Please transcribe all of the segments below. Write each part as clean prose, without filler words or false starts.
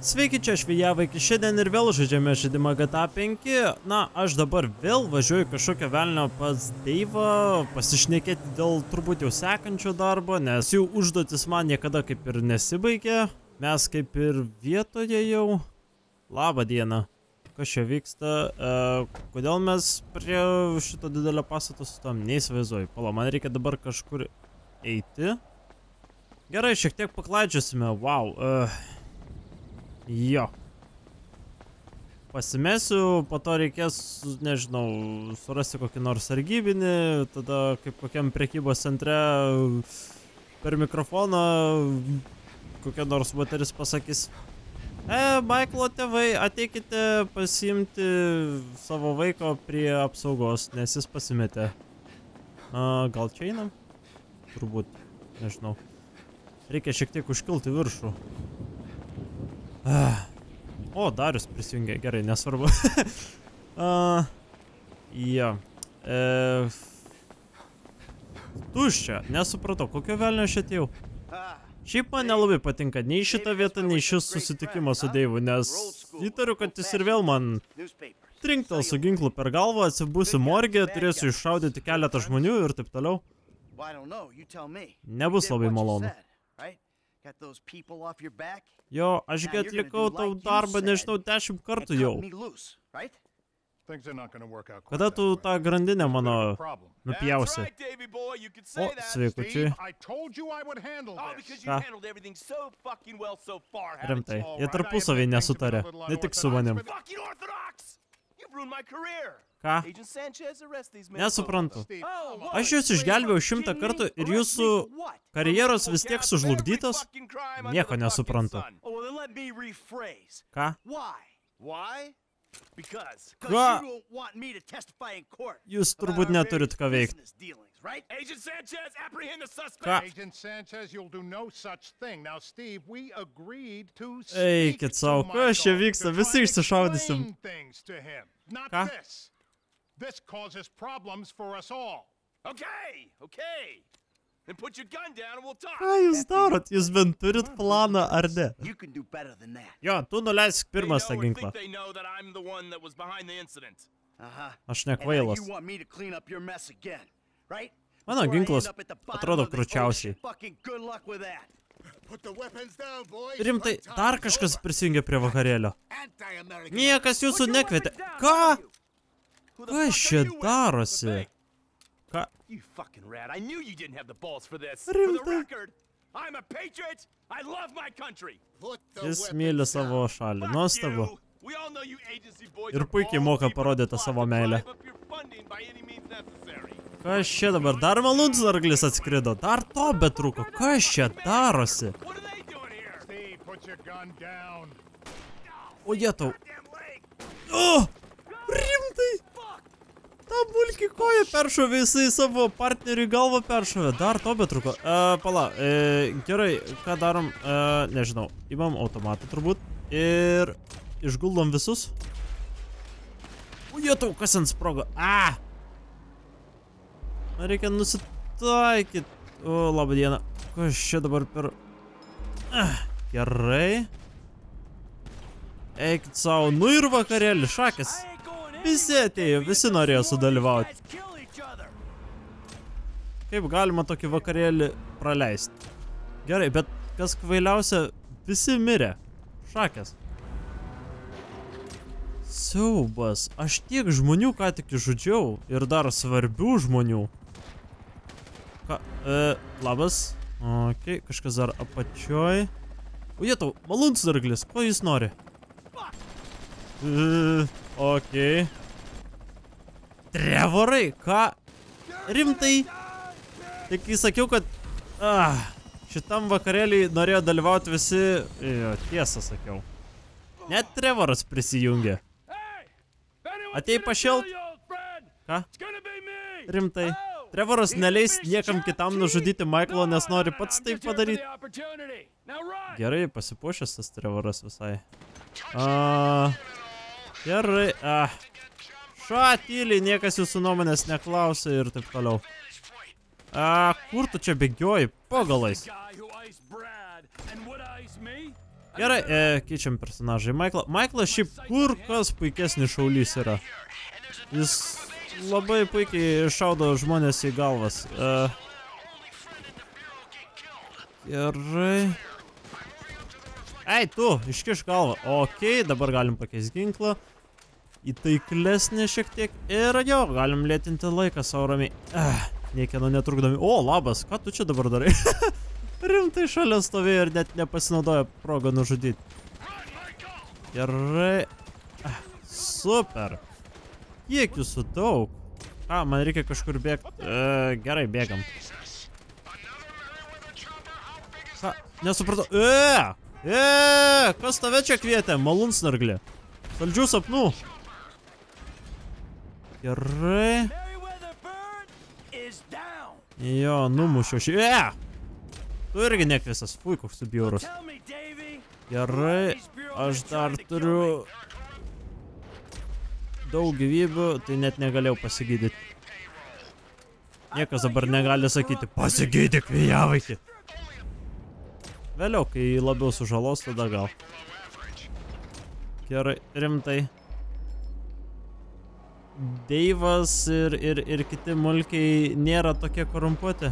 Sveiki, čia Švijavaikis, šiandien ir vėl žaidžiame žaidimą GTA 5. Na, aš dabar vėl važiuoju kažkokio velnio pas Deivą, pasišnekėti dėl turbūt jau sekančio darbo, nes jų užduotis man niekada kaip ir nesibaigė. Mes kaip ir vietoje jau. Labą dieną. Kas čia vyksta? Kodėl mes prie šito didelio pastato sustojom? Neįsivaizduoju. Pala, man reikia dabar kažkur eiti. Gerai, šiek tiek paklaidžiosime. Wow. Jo. Pasimesiu, po to reikės, nežinau, surasti kokį nors sargybinį, tada kaip kokiam prekybos centre per mikrofoną kokia nors moteris pasakys: Maiklo tėvai, ateikite pasiimti savo vaiko prie apsaugos, nes jis pasimetė. Gal čia einam? Turbūt, nežinau. Reikia šiek tiek užkilti viršų. O, Darius prisijungė, gerai, nesvarbu. Jo. Tuščia, nesupratau, kokio velnio aš atėjau. Šiaip man nelabai patinka nei šita vieta, nei šis susitikimas su Deivu, nes įtariu, kad jis ir vėl man trinktel su ginklu per galvą, atsibusiu morgė, turėsiu iššaudyti keletą žmonių ir taip toliau. Nebus labai malonu. Jo, ašgi atlikau tau darbą, nežinau, 10 kartų jau. Kada tu tą grandinę mano nupjausi? O, sveikučiai. Ką? Rimtai, jie tarpusavį nesutarė, ne tik su manim. Ką? Nesuprantu. Aš jūs išgelbėjau 100 kartų ir jūsų karjeros vis tiek sužlugdytos? Nieko nesuprantu. Ką? Ką? Jūs turbūt neturit ką veikti. Ką? Eikit savo, kas čia vyksta, visi išsišaudysim. Ką? Ką jūs darot? Jūs bent turit planą, ar ne? Jo, tu nuleisk pirmas tą ginklą. Aš nekvailas. Mano ginklas atrodo kručiausiai. Rimtai, dar kažkas prisijungė prie vakarėlio. Niekas jūsų nekvietė. Ką? Kas čia darosi? Ką? Rimtai. Jis myli savo šalį. Nuostabu. Ir puikiai moka parodyti savo meilę. Kas čia dabar? Dar malūnsarglis atskrido. Dar to betrūko. Kas čia darosi? O jetau. O! Rimtai! Ta bulki koja peršovė, jisai savo partneriui galvą peršovė. Dar to betrūko. Pala, gerai, ką darom? Nežinau. Imam automatą turbūt. Ir išguldom visus. O jetau, kas ant sprogo? Reikia nusitaikyti. O, labą dieną. Kas čia dabar per... Gerai. Eikit savo. Nu ir vakarėlį, šakės. Visi atėjo, visi norėjo sudalyvauti. Kaip galima tokį vakarėlį praleisti? Gerai, bet kas kvailiausia, visi mirė. Šakės. Siaubas. Aš tiek žmonių ką tik išžudžiau. Ir dar svarbių žmonių. Labas. Ok, kažkas dar apačioj. O jetau, malūnsarglis, ko jis nori? Ok. Trevorai, ką? Rimtai? Tik kai sakiau, kad šitam vakarėlį norėjo dalyvauti visi. Tiesą sakiau. Net Trevoras prisijungė. Atėjai pašėlt? Ką? Rimtai. Trevoras neleis niekam kitam nužudyti Maiklo, nes nori pats taip padaryti. Gerai, pasipuošęs tas Trevoras visai. Gerai. Tyliai, niekas jūsų nuomonės neklausia ir taip toliau. Kur tu čia bėgioji? Po galais. Gerai, keičiam personažai. Maiklas šiaip kur kas puikesnis šaulys yra. Jis labai puikiai šaudo žmonės į galvas. Gerai. Ei, tu, iškiš galvą. Okei, dabar galim pakeisti ginklą. Įtaiklesnį šiek tiek. Ir jo, galim lėtinti laiką savo ramiai. Niekieno netrukdomi. O, labas, ką tu čia dabar darai? Rimtai šalia stovėjo ir net nepasinaudojo progą nužudyti. Gerai. Super. Kiek jūsų daug? Man reikia kažkur bėgti. Gerai, bėgam. Ką? Nesupratau. Kas tave čia kvietė? Malūnsnarglė. Saldžių sapnų. Gerai. Jo, numušiau šį. Tu irgi nekvisas. Fui, koks tu bjaurus. Gerai. Aš dar turiu daug gyvybių, tai net negalėjau pasigydyti. Niekas dabar negali sakyti, pasigydyk, vėjavaikį. Vėliau, kai labiau sužalos, tada gal. Gerai, rimtai. Deivas ir kiti mulkiai nėra tokie korumpuoti.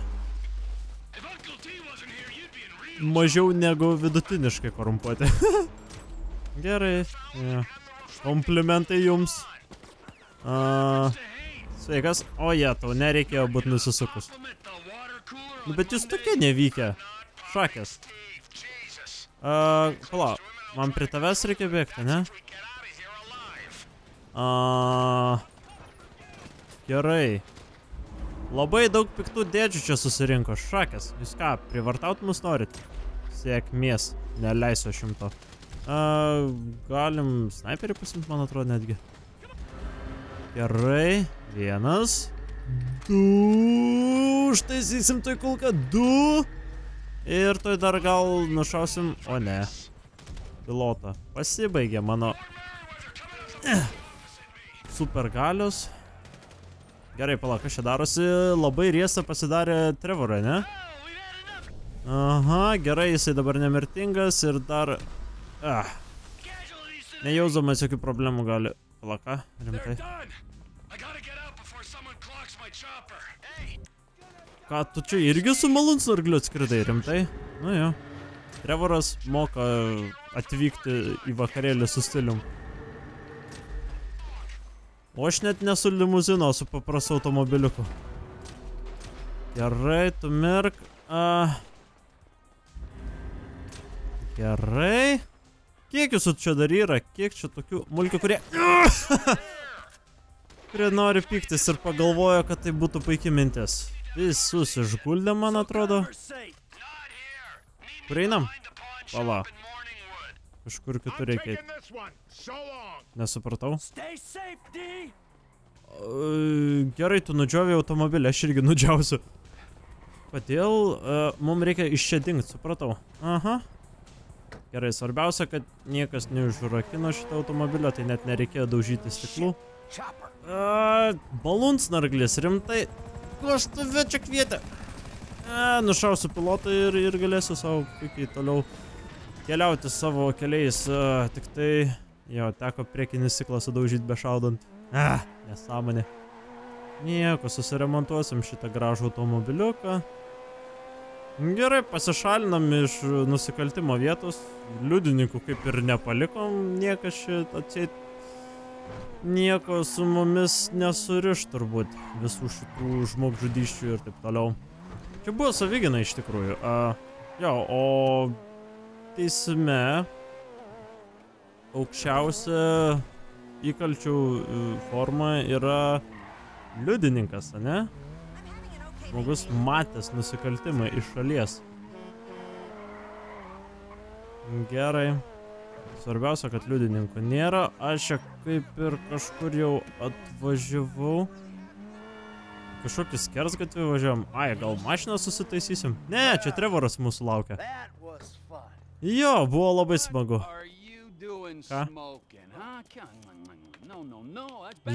Mažiau negu vidutiniškai korumpuoti. Gerai. Ja. Komplimentai jums. Sveikas. O jie, tau nereikėjo būti nusisukus. Bet jūs tokie nevykę. Šakės. Pala, man prie tavęs reikia bėgti, ne? Gerai. Labai daug piktų dėdžių čia susirinko. Šakės. Jūs ką, privartaut mus norit? Sėkmės. Neleisiu 100. Galim sniperį pasimti, man atrodo, netgi. Gerai. 1. 2. Užtaisysim toj kulką. 2. Ir toj dar gal nušausim. O ne. Pilotą. Pasibaigė mano super galios. Gerai, pala, kas čia darosi? Labai riesta pasidarė Trevorą, ne? Aha, gerai, jisai dabar nemirtingas ir dar... Nejausdamas jokių problemų gali... Pala, ką? Rimtai. Ką, tu čia irgi su malūnsnargliu atskridai, rimtai? Nu jo. Trevoras moka atvykti į vakarėlį su stilium. O aš net nesu limuzino, su paprastu automobiliuku. Gerai, tu mirk. Gerai. Kiek jūsų čia dar yra? Kiek čia tokių mulkių, kurie... kurie nori pyktis ir pagalvojo, kad tai būtų puikiai mintis. Visus išguldė, man atrodo. Kur einam? Pala. Kažkur kitur reikia. Nesupratau. Gerai, tu nudžiovė automobilį, aš irgi nudžiausiu. Kodėl mums reikia iš čia dingt, supratau. Aha. Gerai, svarbiausia, kad niekas neužrakino šitą automobilio, tai net nereikėjo daužyti stiklų. Balūnsnarglis, rimtai. Kas tave čia kvietė? Nušausiu pilotą ir galėsiu savo puikiai toliau keliauti savo keliais. Tik tai, jo, teko priekinį stiklą sudaužyti bešaudant. Nesąmonė. Nieko, susiremontuosim šitą gražų automobiliuką. Gerai, pasišalinam iš nusikaltimo vietos. Liudininkų kaip ir nepalikom, niekas šitą atseit. Nieko su mumis nesuriš turbūt visų šitų žmogžudysčių ir taip toliau. Čia buvo savigina iš tikrųjų. Jo, o teisme aukščiausia įkalčių forma yra liudininkas, ane? Žmogus matęs nusikaltimą iš šalies. Gerai. Svarbiausia, kad liudininkų nėra. Aš čia kaip ir kažkur jau atvažiavau. Kažkokį skersgatvį važiavam. Gal mašiną susitaisysim? Ne, čia Trevoras mūsų laukia. Jo, buvo labai smagu. Ką?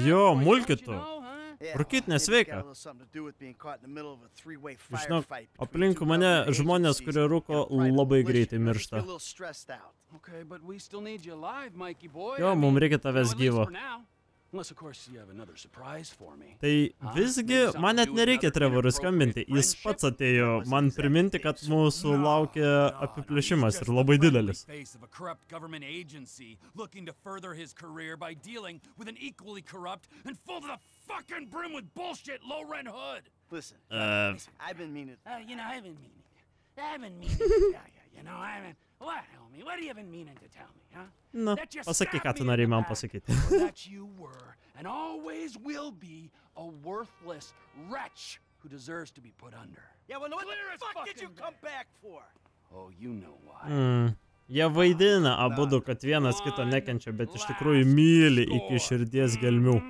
Jo, mulkitų. Rūkyt nesveika. Žinok, aplinkui mane žmonės, kurie rūko, labai greitai miršta. Jo, mums reikia tavęs gyvo. Tai visgi, man net nereikia Trevorui skambinti, jis pats atėjo man priminti, kad mūsų laukia apiplėšimas ir labai didelis. Na, pasakyk, ką tu norėjai man pasakyti. And always will be a worthless wretch who deserves to be put under. Yeah, well, what the fuck did you come back for? Oh, you know why. Jie vaidina abudu, kad vienas kito nekenčia, bet iš tikrųjų myli iki širdies gelmių.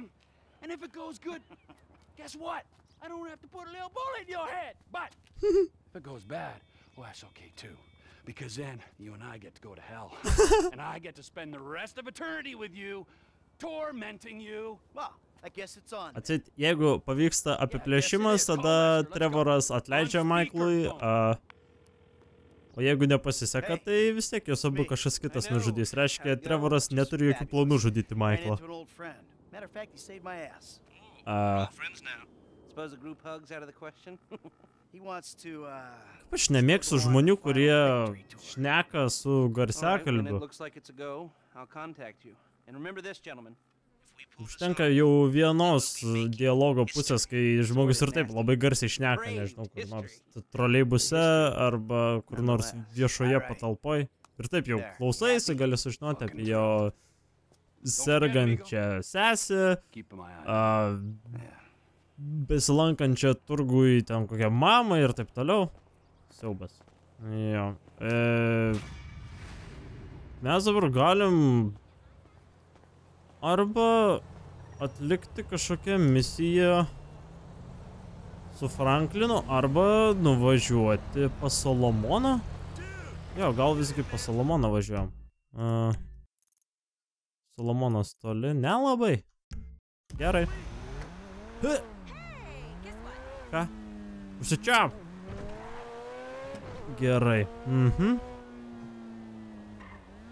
And if it goes good, guess what? I don't have to put a little bullet in your head. But if it goes bad, well, that's okay too. Because then you and I get to go to hell. And I get to spend the rest of eternity with you, tormenting you. Well, I guess it's on. Atsit, jeigu pavyksta apiplėšimas, tada Trevoras atleidžia Michaelui, o jeigu nepasiseka, tai vis tiek jos abu kažkas kitas nužudys. Reiškia, Trevoras neturi jokių planų žudyti Michaelą. Kaip aš nemėgstu žmonių, kurie šneka su garsiakalbiu. Užtenka jau vienos dialogo pusės, kai žmogus ir taip labai garsiai šneka, nežinau, kur nors troleibuse arba kur nors viešoje patalpoj. Ir taip jau klausaisi, gali sužinoti apie jo sergančią sesę, besilankančią turgui ten kokią mamą ir taip toliau. Siaubas. Jo. Mes dabar galim arba atlikti kažkokią misiją su Franklinu, arba nuvažiuoti pas Solomoną. Jo, gal visgi pas Solomoną važiuojam. Solomonas toli, nelabai. Gerai. Ką? Užsičiap. Gerai.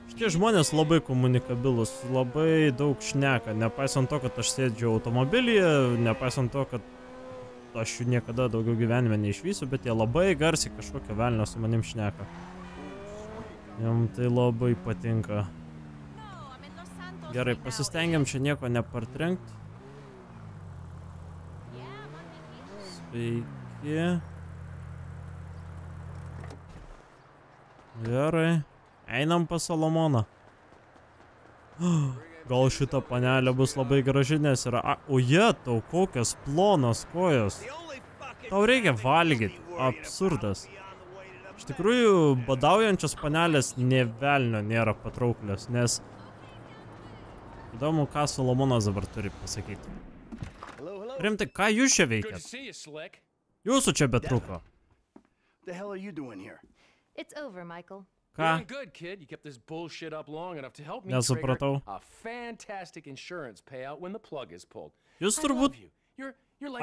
Šitie žmonės labai komunikabilus, labai daug šneka, nepaisant to, kad aš sėdžiu automobilyje, nepaisant to, kad aš jų niekada daugiau gyvenime neišvysiu, bet jie labai garsiai kažkokio velnio su manim šneka. Jam tai labai patinka. Gerai, pasistengiam čia nieko nepartrenkt. Sveiki. Gerai. Einam pas Solomoną. Gal šita panelė bus labai graži, nes yra... O tau kokios plonos kojos. Tau reikia valgyti. Absurdas. Iš tikrųjų, badaujančios panelės nė velnio nėra patrauklios, nes... Įdomu, ką Solomonas dabar turi pasakyti. Rimtai, ką jūs čia veikiat? Jūsų čia betruko. Ką? Nesupratau. Jūs turbūt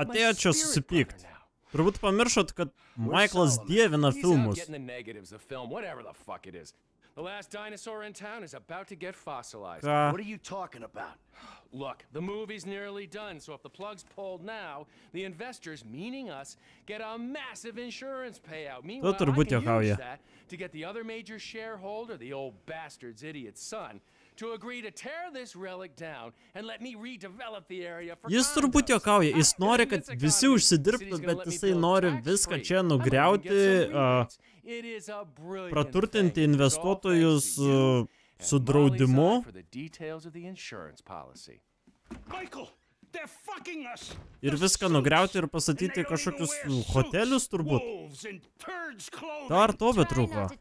atėjot čia susipykt. Turbūt pamiršot, kad Michaelas dievina filmus. The last dinosaur in town is about to get fossilized. What are you talking about? Look, the movie's nearly done, so if the plug's pulled now, the investors, meaning us, get a massive insurance payout. Meanwhile, I can use that to get the other major shareholder, the old bastard's idiot son, to agree to tear this relic down and let me redevelop the area for Jis turbūt juokauja, jis nori, kad visi užsidirbtų, bet jisai nori viską čia nugriauti, praturtinti investuotojus su draudimu. Ir viską nugriauti ir pastatyti kažkokius hotelius turbūt. Dar to betrūko.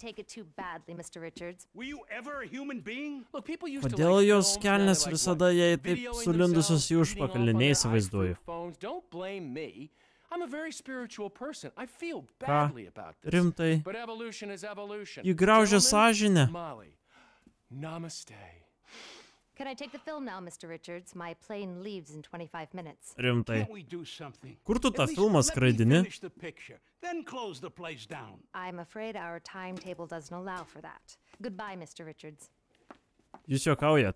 Kodėl jos kelnes visada jai taip sulindusios į užpakalį, neįsivaizduoju. Ką? Rimtai? Jį graužia sąžinę. Can I take the film now, Mr. Richards? My plane leaves in 25 minutes. Rimtai. Can't we do something? Kur tu tą At least filmą let me skraidini? finish the picture, then close the place down. I'm afraid our timetable doesn't allow for that. Goodbye, Mr. Richards. Jūs juokaujat.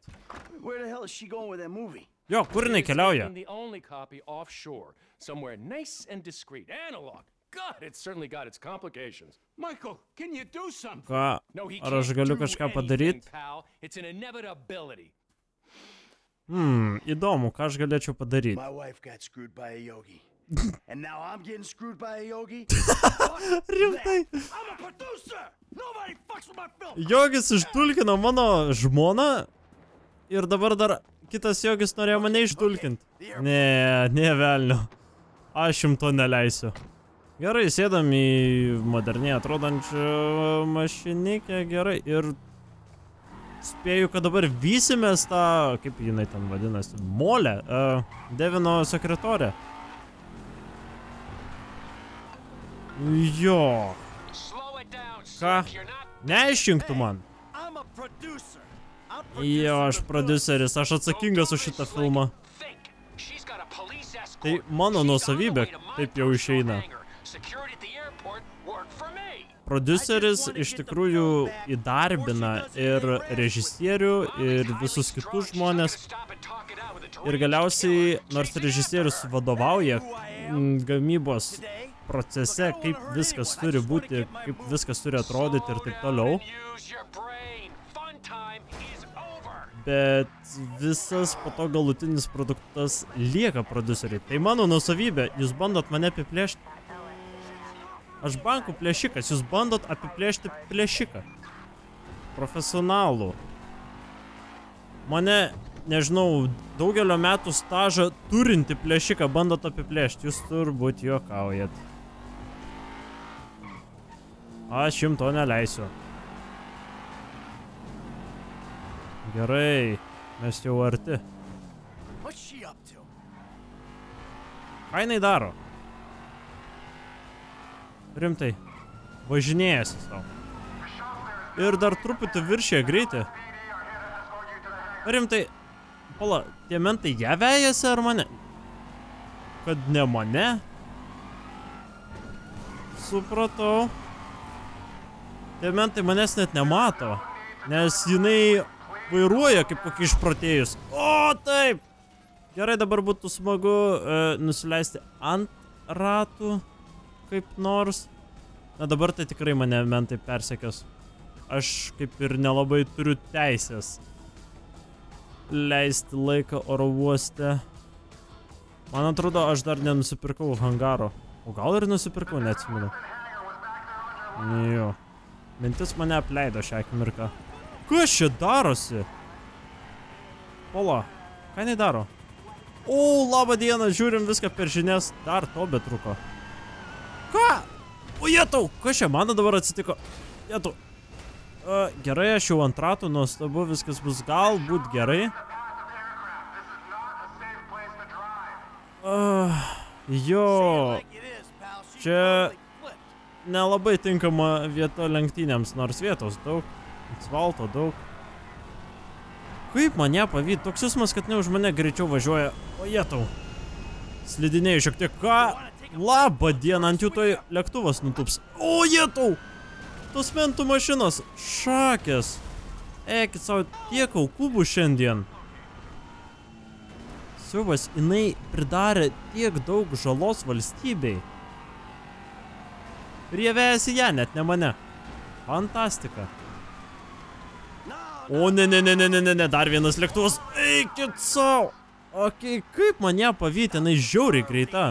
Where the hell is she going with that movie? Jo, kur jinai keliauja? The only copy offshore, somewhere nice and discreet. Analog. God, it's certainly got its complications. Michael, can you do something? Ką? No, he Ar aš can't galiu do kažką anything, padaryt? pal. It's an inevitability. Įdomu, ką aš galėčiau padaryti. My wife got screwed by a yogi. And now I'm getting screwed by a yogi? Rimtai. I'm a producer! Nobody fucks with my film! Jogis išdulkino mano žmoną ir dabar dar kitas jogis norėjo mane išdulkinti. Ne velnio. Aš jums to neleisiu. Gerai, sėdam į moderniai atrodančią mašinikę, gerai, ir spėju, kad dabar vysimės tą, kaip jinai ten vadinasi, molę, Devino sekretorę. Jo. Ką? Neišrinktų man. Jo, aš prodiuseris, aš atsakingas už šitą filmą. Tai mano nuosavybė, taip jau išeina. Prodiuseris iš tikrųjų įdarbina ir režisierių, ir visus kitus žmonės. Ir galiausiai, nors režisierius vadovauja gamybos procese, kaip viskas turi būti, kaip viskas turi atrodyti ir taip toliau. Bet visas po to galutinis produktas lieka prodiuseriai. Tai mano nuosavybė, jūs bandot mane apiplėšti. Aš bankų plėšikas, jūs bandot apiplėšti plėšiką. Profesionalų. Mane, nežinau, daugelio metų stažą turinti plėšiką bandot apiplėšti. Jūs turbūt juokaujat. Aš jums to neleisiu. Gerai, mes jau arti. Ką jinai daro? Rimtai, važinėjasi savo. Ir dar truputį viršė greitį. Rimtai, pala, tie mentai ją vejasi ar mane? Kad ne mane? Supratau. Tie mentai manęs net nemato, nes jinai vairuoja kaip kokį išprotėjus. O, taip! Gerai, dabar būtų smagu nusileisti ant ratų. Kaip nors. Na dabar tai tikrai mane mentai persekios. Aš kaip ir nelabai turiu teisės leisti laiką oro uoste. Man atrodo, aš dar nenusipirkau hangaro. O gal ir nusipirkau, neatsimenu. Jo. Mintis mane apleido šią akimirką. Kas čia darosi? Pola, ką jinai daro? O, labą dieną, žiūrim viską per žinias. Dar to betruko. Ką? O jetau, kas čia man dabar atsitiko? Jetau. Gerai, aš jau ant ratų, nuostabu, viskas bus galbūt gerai. Jo. Čia nelabai tinkama vieta lenktynėms, nors vietos daug. Asfalto daug. Kaip man ją pavyti? Toks jausmas, kad ne už mane greičiau važiuoja. O jetau. Slidinėjau šiek tiek. Ką? Labą dieną, ant jų toj lėktuvas nutups. O, jetau! Tos mentų mašinos. Šakės. Eikit savo, tiek aukų bus šiandien. Siubas, jinai pridarė tiek daug žalos valstybei. Ir jie vejasi ją, net ne mane. Fantastika. O, ne, dar vienas lėktuvas. Eikit savo. Okei, kaip man ją pavyti, jinai žiauriai greita.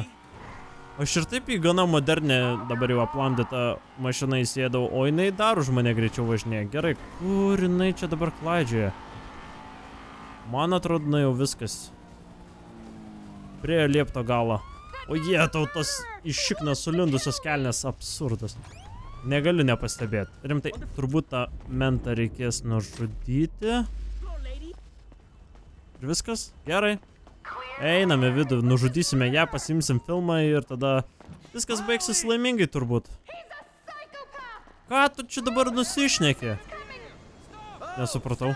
Aš ir taip į gana modernę, dabar jau aplamdytą mašiną įsėdau, o jinai dar už mane greičiau važinėja. Gerai, kur jinai čia dabar klaidžioja? Man atrodo, jau viskas. Prie liepto galo. O jie, tautos iššiknas sulindusios kelnes, absurdas. Negaliu nepastebėti. Rimtai, turbūt tą mentą reikės nužudyti. Ir viskas? Gerai. Einame vidų, nužudysime ją, pasimsim filmą ir tada viskas baigsis laimingai turbūt. Ką tu čia dabar nusišneki? Nesupratau.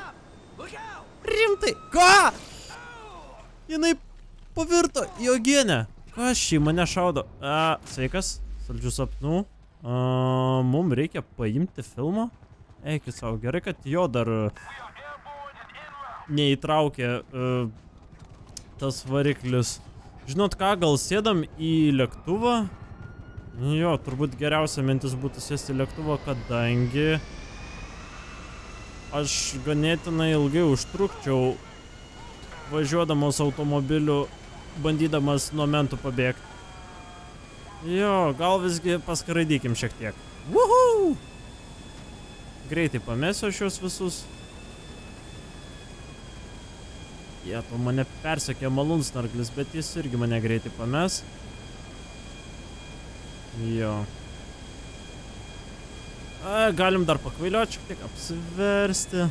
Rimtai. Ką? Jinai pavirto į uogienę. Kas šį mane šaudo? Sveikas, saldžių sapnų. Mums reikia paimti filmą. Eikit savo, gerai, kad jo dar neįtraukė tas variklis. Žinot ką, gal sėdam į lėktuvą? Jo, turbūt geriausia mintis būtų sėsti į lėktuvą, kadangi aš ganėtinai ilgai užtrukčiau važiuodamas automobiliu, bandydamas nuo mentų pabėgti. Jo, gal visgi paskraidykim šiek tiek. Woohoo! Greitai pamesiu šios visus. Jie, to mane persekė malūnsnarglis, bet jis irgi mane greitai pames. Jo. Galim dar pakvailiuoti, šiek tiek apsiversti.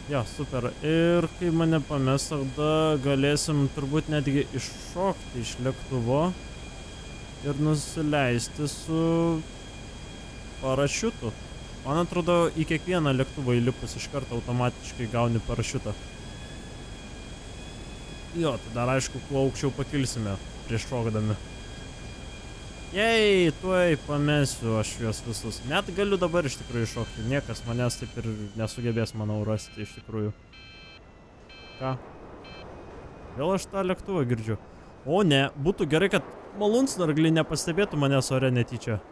Jo, super. Ir kai mane pames, tada galėsim turbūt netgi iššokti iš lėktuvo ir nusileisti su parašiutu. Man atrodo, į kiekvieną lėktuvą įlipus iš karto automatiškai gauni parašiutą. Jo, tai dar aišku, kuo aukščiau pakilsime prieš šokdami. Jei, tuoj pamesiu aš juos visus. Net galiu dabar iš tikrųjų šokti. Niekas manęs taip ir nesugebės, manau, rasti iš tikrųjų. Ką? Vėl aš tą lėktuvą girdžiu. O ne, būtų gerai, kad malūnsnargliai nepastebėtų manęs ore netyčia.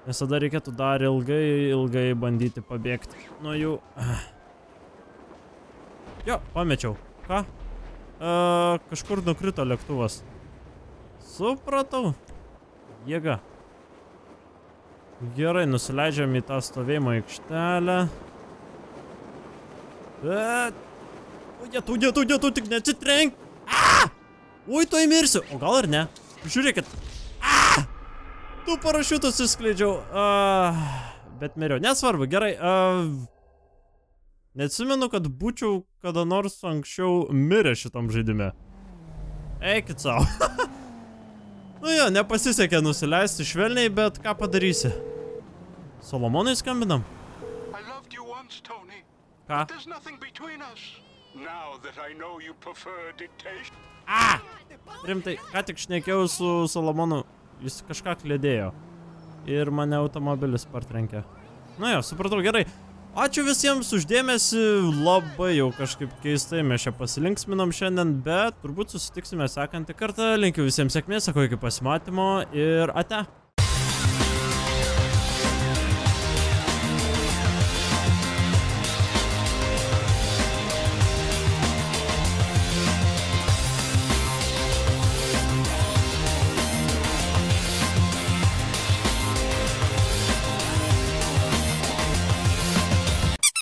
Nes tada reikėtų dar ilgai bandyti pabėgti nuo jų. Jo, pamečiau. Ką? Kažkur nukrito lėktuvas. Supratau. Jėga. Gerai, nusileidžiam į tą stovėjimo aikštelę. Tu tik neatsitrenk. Ui, tu įmirsiu. O gal ir ne? Žiūrėkit. Tu parašiutus išskleidžiau. Bet miriau. Nesvarbu, gerai. Neatsimenu, kad būčiau kada nors anksčiau mirę šitam žaidime. Eikit savo. Nu jo, nepasisekė nusileisti švelniai, bet ką padarysi? Solomonui skambinam? Ką? Rimtai, ką tik šnekėjau su Solomonu, jis kažką klėdėjo. Ir mane automobilis partrenkė. Nu jo, supratau, gerai. Ačiū visiems už dėmesį, labai jau kažkaip keistai mes čia pasilinksminom šiandien, bet turbūt susitiksime sekantį kartą. Linkiu visiems sėkmės, sakau iki pasimatymo ir ate.